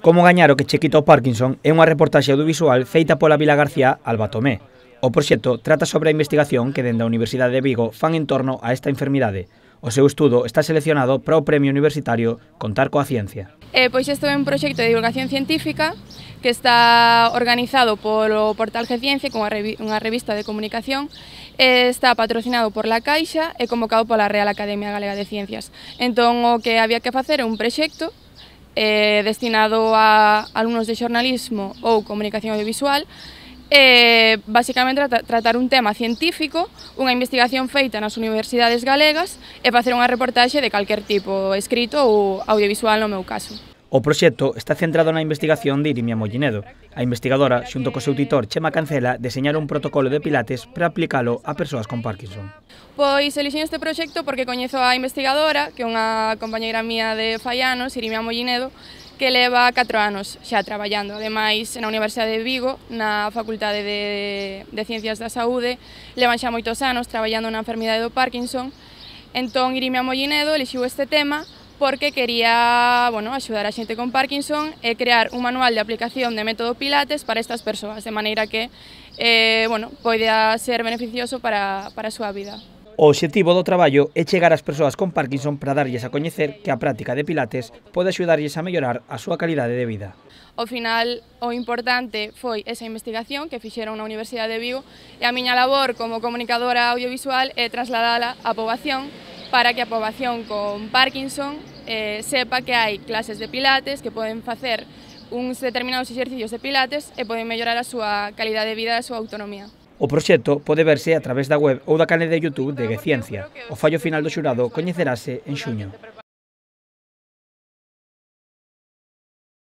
Como gañar o que che quita o Parkinson é unha reportaxe audiovisual feita pola Vila García Alba Tomé. O proxecto trata sobre a investigación que dende a Universidade de Vigo fan en torno a esta enfermidade. O seu estudo está seleccionado para o premio universitario Contar coa Ciencia. Pois isto é un proxecto de divulgación científica que está organizado polo portal Gciencia, unha revista de comunicación, está patrocinado por La Caixa e convocado pola Real Academia Galega de Ciencias. Entón, o que había que facer é un proxecto destinado a alumnos de xornalismo ou comunicación audiovisual, basicamente tratar un tema científico, unha investigación feita nas universidades galegas e facer unha reportaxe de calquer tipo, escrito ou audiovisual no meu caso. O proxecto está centrado na investigación de Irimia Mollinedo. A investigadora, xunto co seu tutor Chema Cancela, deseñaron un protocolo de pilates para aplicalo a persoas con Parkinson. Pois elixen este proxecto porque coñezo a investigadora, que é unha compañeira mía de fai anos, Irimia Mollinedo, que leva 4 anos xa traballando. Ademais, na Universidade de Vigo, na Facultade de Ciencias da Saúde, levan xa moitos anos traballando na enfermidade do Parkinson. Entón, Irimia Mollinedo elixiu este tema porque quería axudar a xente con Parkinson e crear un manual de aplicación de método Pilates para estas persoas, de maneira que poida ser beneficioso para a súa vida. O obxectivo do traballo é chegar ás persoas con Parkinson para darlles a coñecer que a práctica de Pilates pode axudarlles a mellorar a súa calidade de vida. Ao final, o importante foi esa investigación que fixeron na Universidade de Vigo e a miña labor como comunicadora audiovisual é trasladala á poboación para que a poboación con Parkinson sepa que hai clases de Pilates que poden facer uns determinados exercicios de Pilates e poden mellorar a súa calidade de vida e a súa autonomía. O proxecto pode verse a través da web ou da canle de YouTube de Gciencia. O fallo final do xurado coñecerase en xuño.